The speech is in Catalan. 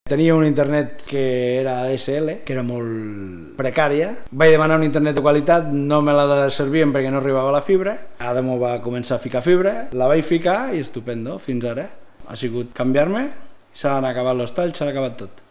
Tenia un internet que era ADSL, que era molt precària. Vaig demanar un internet de qualitat, no me la servien perquè no arribava la fibra. Ara m'ho va començar a ficar fibra, la vaig ficar i estupendo, fins ara. Ha sigut canviar-me, s'han acabat els talls, s'ha acabat tot.